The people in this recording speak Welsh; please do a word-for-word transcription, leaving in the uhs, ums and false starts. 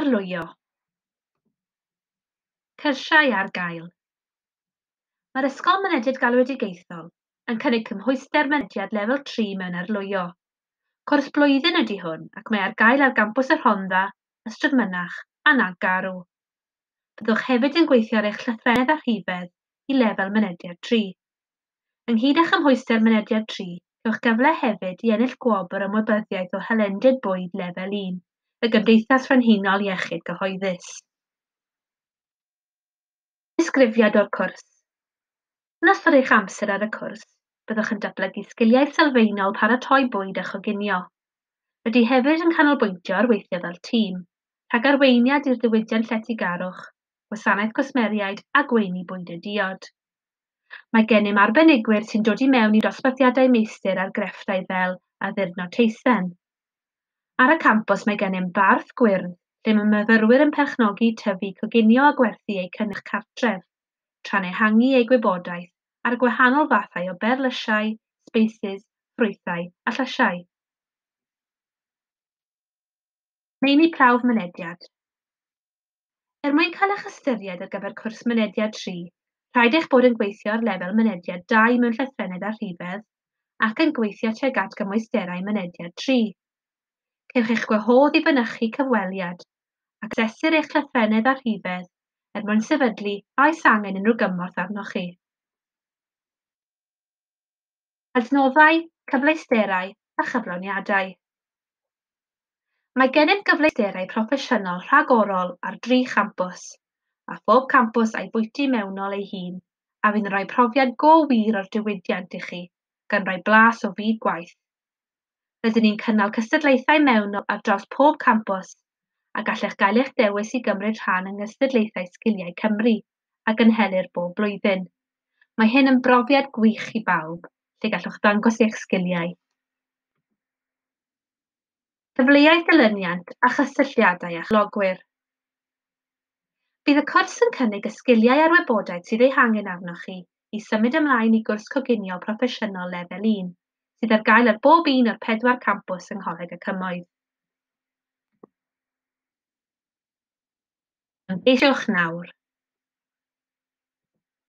Arlwyo. Cyrsiau ar gael. Mae'r Ysgol Mynediad Galwedigaethol yn cynnig cymhwyster mynediad lefel tri mewn arlwyo. Cwrs blwyddyn ydy hwn ac mae ar gael ar gampws y Rhondda, Ystrad Mynach a Nantgarw. Byddwch hefyd yn gweithio ar eich llythrennedd a rhifedd i lefel mynediad tri. Ynghyd â chymhwyster mynediad tri, cewch gyfle hefyd i ennill gwobr ymwybyddiaeth o hylendid bwyd lefel un, y Gymdeithas Frenhinol Iechyd Cyhoeddus. Disgrifiad o'r cwrs. Yn ystod eich amser ar y cwrs, byddwch yn datblygu sgiliau sylfaenol paratoi bwyd a choginio. Rydych hefyd yn canolbwyntio ar weithio fel tîm, rhag arweiniad i'r diwydiant lletygarwch, gwasanaeth cwsmeriaid a gweini bwyd a diod. Mae gennym arbenigwyr sy'n dod i mewn i dosbarthiadau meistr ar grefftau fel addurno teisen. Ar y campws mae gennym barth gwyrdd lle mae myfyrwyr yn perchnogi, tyfu, coginio a gwerthu eu cynnyrch cartref, tra'n ehangu eu gwybodaeth ar y gwahanol fathau o berlysiau, sbeisys, ffrwythau a llysiau. Meini prawf mynediad. Er mwyn cael eich ystyried ar gyfer cwrs mynediad tri, rhaid eich bod yn gweithio ar lefel mynediad dau mewn llythrennedd a rhifedd ac yn gweithio tuag at gymwysterau mynediad tri. Cewch eich gwahodd i fynychu cyfweliad ac asesir eich llythrennedd a rhifedd er mwyn sefydlu a oes angen unrhyw gymorth arnoch chi. Adnoddau, cyfleusterau a chyflawniadau. Mae gennym gyfleusterau proffesiynol rhagorol ar dri champws, a phob campws a'i bwyty mewnol ei hun, a fydd yn rhoi profiad go wir o'r diwydiant i chi, gan roi blas o fyd gwaith. Rydyn ni'n cynnal cystadlaethau mewnol ar draws pob campws, a gallech gael eich dewis i gymryd rhan yng nghystadlaethau Sgiliau Cymru, a gynhelir bob blwyddyn. Mae hyn yn brofiad gwych i bawb, lle gallwch ddangos eich sgiliau. Cyfleoedd dilyniant a chysylltiadau â chyflogwyr. Bydd y cwrs yn cynnig y sgiliau a'r wybodaeth sydd eu hangen arnoch chi i symud ymlaen i gwrs coginio proffesiynol lefel un, sydd ar gael ar bob un o'r pedwar campws yng Ngholeg y Cymoedd. Ymgeisiwch nawr.